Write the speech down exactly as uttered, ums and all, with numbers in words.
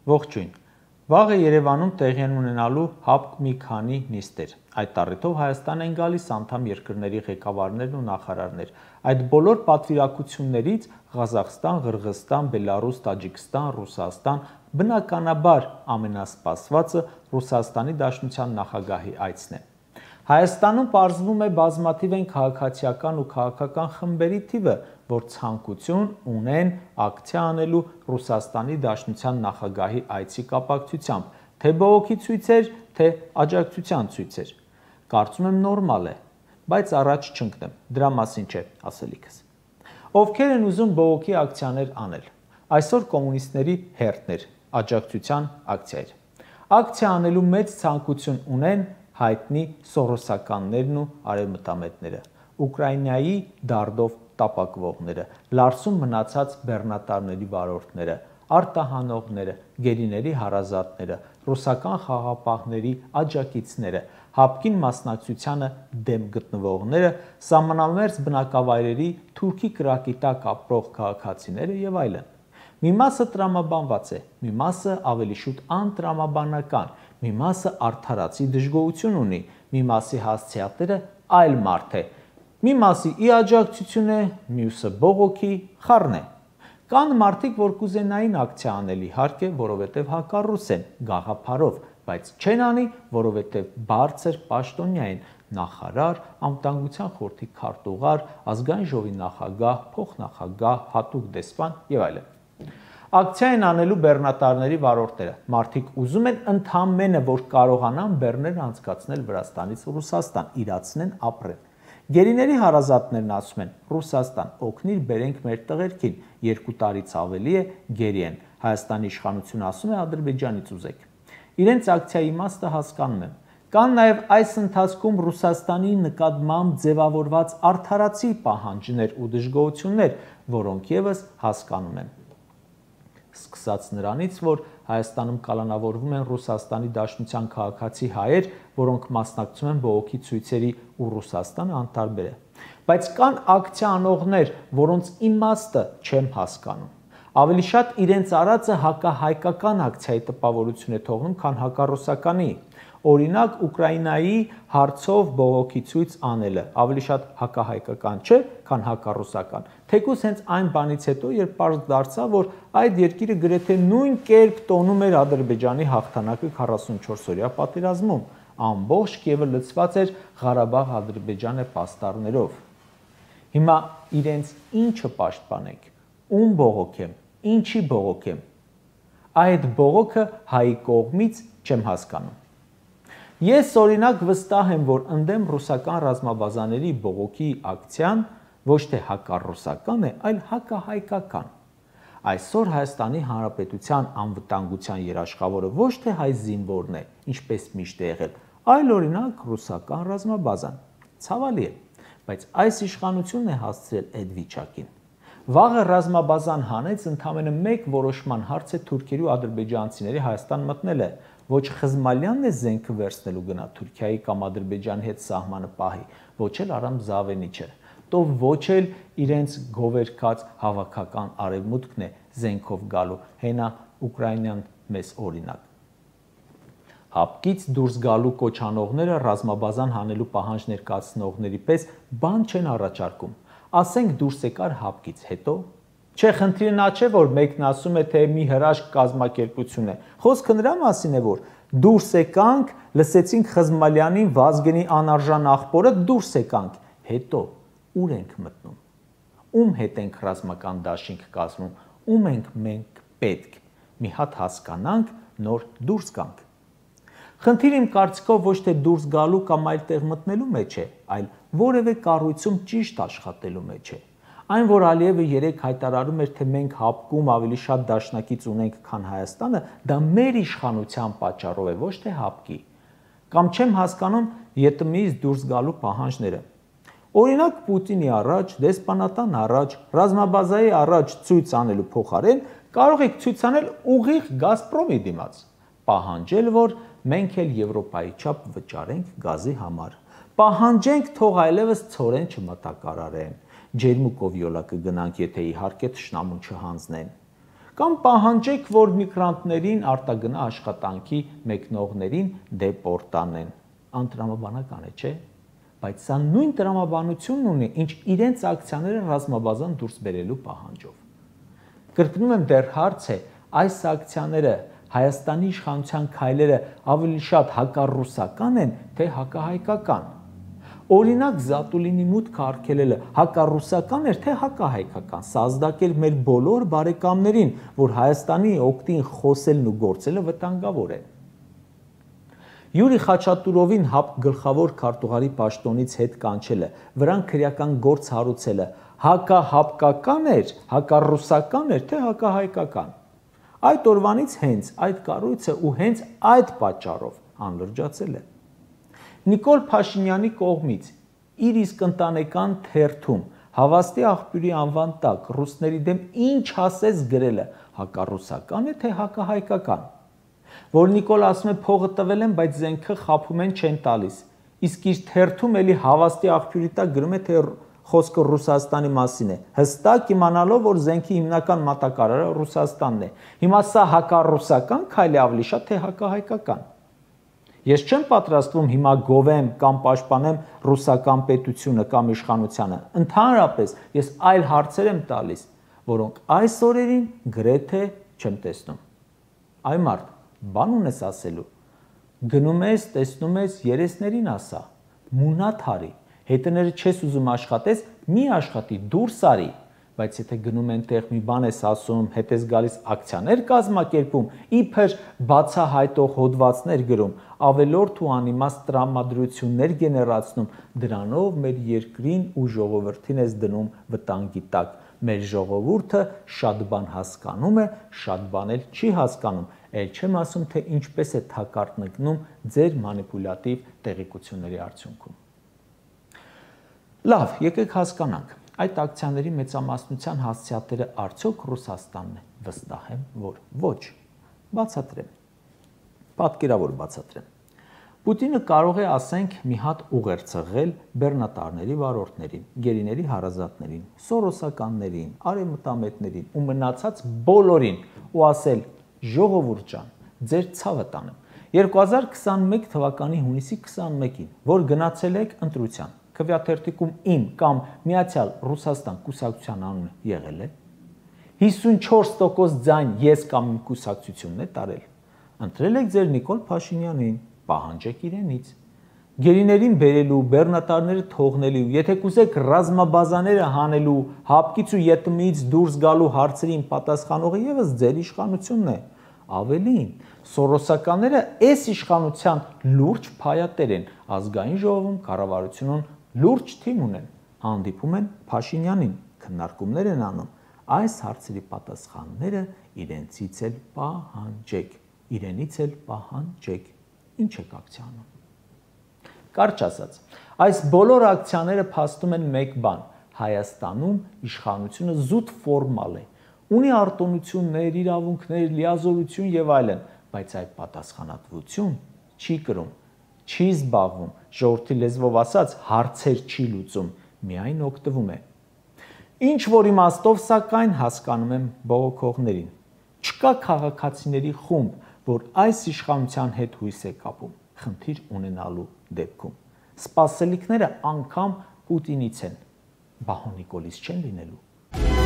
Ողջույն։ Վաղը Երևանում տեղի են ունենալու հապկ մի քանի նիստեր։ Այդ առիթով Հայաստան են գալիս անդամ երկրների ղեկավարներն ու նախարարներ։ Այդ բոլոր պատվիրակություններից Ղազախստան, Ղրղըզստան, Բելարուս, Տաջիկստան, Ռուսաստան, բնականաբար ամենասպասվածը Ռուսաստանի Դաշնության նախագահի այցն է։ Հայաստանում պարզվում է բազմաթիվ են քաղաքացիական ու քաղաքական խմբերի թիվը, որ ցանկություն ունեն ակցիա անելու Ռուսաստանի Դաշնության նախագահի այցի կապակցությամբ, թե բողոքի ցույցեր, թե աջակցության ցույցեր։ Կարծում եմ նորմալ է, բայց առաջ չընկնեմ, դրա մասին չէ ասելիքս։ Ովքեր են ուզում բողոքի ակցիաներ անել։ Այսօր կոմունիստների հերթներ, աջակցության ակցիաներ։ Ակցիա անելու մեծ ցանկություն ունեն հայտնի սորոսականներն ու արևմտամետները, Ուկրաինայի դարդով տապակվողները, Լարսում մնացած բեռնատարների վարորդները, արտահանողները, գերիների հարազատները, ռուսական խաղապահների աջակիցները, հապկին մասնակցությանը դեմ գտնվողները, սահմանամերձ բնակավայրերի թուրքի կրակի տակ ապրող քաղաքացիները եւ այլն։ Մի մասը տրամաբանված է, մի մասը ավելի շուտ անտրամաբանական, մի մասը արդարացի դժգոհություն ունի, մի մասի հասցեատերը այլ մարդ է, մի մասի ի աջակցություն է, մյուսը բողոքի խառն է։ Կան մարդիկ, որ կուզենային ակցիա անել իհարկե, որովհետև հակառուս են գաղափարով, բայց չեն անի, որովհետև բարձր պաշտոնյա են, նախարար, անվտանգության խորհրդի քարտուղար, ազգային ժողովի նախագահ, փոխնախագահ, հատուկ դեսպան եւ այլն։ Ակցիա են անելու բեռնատարների վարորդները։ Մարդիկ ուզում են ընդամենը, որ կարողանան բեռներ անցկացնել Վրաստանից Ռուսաստան, իրացնեն ապրեն։ Գերիների հարազատներն ասում են. Ռուսաստան, օգնիր բերենք մեր տղերքին, երկու տարից ավելի է գերի են։ Հայաստանի իշխանությունը ասում է Ադրբեջանից ուզեք։ Իրենց ակցիայի իմաստը հասկանում եմ։ Կան նաև այս ընթացքում Ռուսաստանի նկատմամբ ձևավորված արդարացի պահանջներ ու դժգոհություններ, որոնք եւս հասկանում եմ։ Սկսած նրանից, որ Հայաստանում կալանավորվում են Ռուսաստանի Դաշնության քաղաքացի հայեր, որոնք մասնակցում են բողոքի ցույցերի ու Ռուսաստանը անտարբեր է։ Բայց կան ակցիա անողներ, որոնց իմաստը չեմ հասկանում։ Ավելի շատ իրենց արածը հակահայկական ակցիայի տպավորություն է թողնում, քան հակառուսականի։ Օրինակ Ուկրաինայի հարցով բողոքի ցույց անելը ավելի շատ հակահայկական չէ, քան հակառուսական։ Թեկուզ հենց այն բանից հետո, երբ պարզ դարձավ, որ այդ երկիրը գրեթե նույն կերպ տոնում էր Ադրբեջանի հաղթանակը քառասունչորս օրյա պատերազմում, ամբողջ Կիևը լցված էր Ղարաբաղ-Ադրբեջանը պաստառներով։ Հիմա իրենց ինչը պաշտպանենք, ում բողոքեմ, ինչի բողոքեմ։ Այդ բողոքը հայի կողմից չեմ հասկանում։ Ես օրինակ վստահ եմ, որ ընդդեմ ռուսական ռազմաբազաների բողոքի ակցիան ոչ թե հակառուսական է, այլ հակահայկական։ Այսօր Հայաստանի Հանրապետության անվտանգության երաշխավորը ոչ թե հայ զինվորն է, ինչպես միշտ է եղել, այլ օրինակ ռուսական ռազմաբազան։ Ցավալի է, բայց այս իշխանությունն է հասցրել այդ վիճակին։ Վաղը ռազմաբազան հանեց ընդամենը մեկ որոշման հարց է թուրքերի ու ադրբեջանցիների Հայաստան մտնելը։ Ոչ Խզմալյանն է զենքը վերցնելու գնա Թուրքիայի կամ Ադրբեջանի հետ սահմանը պահի, ոչ էլ Արամ Զավենիչը, то ոչ էլ իրենց գովերքած հավաքական արևմուտքն է զենքով գալու, հենա Ուկրաինան մեզ օրինակ։ Հապկից դուրս գալու կոչանողները ռազմաբազան հանելու պահանջ ներկայացնողների պես բան չեն առաջարկում։ Ասենք դուրս եկար հապկից, հետո Չէ, խնդիրը նա չէ, որ մեկն ասում է, թե մի հրաշք կազմակերպություն է։ Խոսքը նրա մասին է, որ դուրս եկանք, լսեցինք Խզմալյանին, Վազգենի անարժան աղբորը, դուրս եկանք, հետո ուր ենք մտնում։ Ում հետ ենք ռազմական դաշինք կազմում, ում ենք մենք պետք։ Մի հատ հասկանանք, նոր դուրս գանք։ Խնդիրը իմ կարծիքով ոչ թե դուրս գալու կամ այլ տեղ մտնելու մեջ է, այլ որևէ կառույցում ճիշտ աշխատելու մեջ է։ Այն, որ Ալիևը երեկ հայտարարում էր, թե մենք հապկում ավելի շատ դաշնակից ունենք, քան Հայաստանը, դա մեր իշխանության պատճառով է, ոչ թե հապկի։ Կամ չեմ հասկանում ԵՏՄ-ից դուրս գալու պահանջները։ Օրինակ Պուտինի առաջ, դեսպանատան առաջ, ռազմաբազայի առաջ ցույց անելու փոխարեն կարող եք ցույց անել ուղիղ Գազպրոմի դիմաց, պահանջել, որ մենք էլ Եվրոպայի չափ վճարենք գազի համար։ Պահանջենք, թող այլևս ցորեն չմտակարարեն։ Ջերմուկով յոլա կգնանք, եթե իհարկե թշնամուն չհանձնեն։ Կամ պահանջեք, որ միգրանտներին արտագնա աշխատանքի մեկնողներին դեպորտ անեն։ Անտրամաբանական է, չէ՞։ Բայց սա նույն տրամաբանությունն ունի, ինչ իրենց ակցիաները ռազմաբազան դուրս բերելու պահանջով։ Կրկնում եմ, դեռ հարց է, այս ակցիաները Հայաստանի իշխանության քայլերը ավելի շատ հակառուսական են, թե հակահայկական։ Օրինակ Զատուլինի մուտքը արգելելը հակառուսական էր, թե հակահայկական։ Սա ազդակեր մեր բոլոր բարեկամներին, որ Հայաստանի օգտին խոսելն ու գործելը վտանգավոր է։ Յուրի Խաչատուրովին ՀԱՊԿ գլխավոր քարտուղարի պաշտոնից հետ կանչելը, վրան քրեական գործ հարուցելը հակահապկական էր, հակառուսական էր, թե հակահայկական։ Այդ օրվանից հենց այդ կառույցը ու հենց այդ պատճառով անլրջացել է։ Նիկոլ Փաշինյանի կողմից իր իսկ ընտանեկան թերթում հավաստի աղբյուրի անվան տակ ռուսների դեմ ինչ ասես գրելը հակառուսական է, թե հակահայկական։ Որ Նիկոլ ասում է փողը տվել են, բայց զենքը խաբում են չեն տալիս։ Իսկ իր թերթում էլի հավաստի աղբյուրի տակ գրում է, թե խոսքը Ռուսաստանի մասին է, հստակ իմանալով, որ զենքի հիմնական մատակարարը Ռուսաստանն է։ Հիմա սա հակառուսական քայլ է ավելի շատ, թե հակահայկական։ Ես չեմ պատրաստվում հիմա գովեմ կամ պաշտպանեմ ռուսական պետությունը կամ իշխանությանը։ Ընդհանրապես ես այլ հարցեր եմ տալիս, որոնք այս օրերին գրեթե չեմ տեսնում։ Այ մարդ, բան ունես ասելու։ Գնում ես, տեսնում ես, երեսներին ասա, մունատ հարի, հետները չես ուզում աշխատես, մի աշխատի, դուրս արի, բայց եթե գնում ենտեղ մի բան ես ասում, հետ ես գալիս ակցիաներ կազմակերպում, իբր բացահայտող հոդվածներ գրում, ավելորդ ու անիմաստ տրամադրություններ գեներացնում, դրանով մեր երկրին ու ժողովրդին ես դնում վտանգի տակ։ Մեր ժողովուրդը շատ բան հասկանում է, շատ բան էլ չի հասկանում, էլ չեմ ասում, թե ինչպես է թակարդնկնում ձեր մանիպուլյատիվ տեղեկությունների արդյունքում։ Լավ, եկեք հասկանանք, այդ ակցիաների մեծամասնության հասցեատերը արդյոք Ռուսաստանն է, վստահ եմ, որ ոչ, բացատրեմ, պատկերավոր բացատրեմ։ Պուտինը կարող է, ասենք, մի հատ ուղեր ցղել բեռնատարների վարորդներին, գերիների հարազատներին, սորոսականներին, արևմտամետներին ու մնացած բոլորին ու ասել. ժողովուրդ ջան, ձեր ցավը տանեմ։ երկու հազար քսաներկու թվականի հունիսի քսանմեկին, որ գնացել եք ընտրության, քվեաթերթիկում իմ կամ Միացյալ Ռուսաստան կուսակցության անունը եղել է, հիսունչորս տոկոս ձայն ես կամ իմ կուսակցությունն է տարել, ընտրել եք ձեր Նիկոլ Փաշինյանին, պահանջեք իրենից, գերիներին բերելու, բեռնատարները թողնելու, եթե կուզեք ռազմաբազաները հանելու, հապկից ու ԵՏՄ-ից դուրս գալու հարցերին պատասխանողը ևս ձեր իշխանությունն է, ավելին, սորոսականները այս իշխանության լուրջ փայատեր են, ազգային ժողովում կառավարությունում լուրջ թիմ ունեն, հանդիպում են Փաշինյանին, քննարկումներ են անում, այս հարցերի պատասխանները իրենցից էլ պահանջեք, իրենից էլ պահանջեք, ինչ եք ակցիանում։ Կարճ ասած, այս բոլոր ակցիաները փաստում են մեկ բան, Հայաստանում իշխանությունը զուտ ֆորմալ է, ունի արտոնություններ, իրավունքներ, լիազորություն եւ այլն, բայց այդ պատասխանատվություն չի կրում, չի զբաղվում, ժողովրդի լեզվով ասած հարցեր չի լուծում, միայն օգտվում է։ Ինչ որ իմաստով, սակայն հասկանում եմ բողոքողներին, չկա քաղաքացիների խումբ, որ այս իշխանության հետ հույս է կապում, խնդիր ունենալու դեպքում։ Սպասելիքները անգամ Պուտինից են, բահո Նիկոլից չեն լինելու։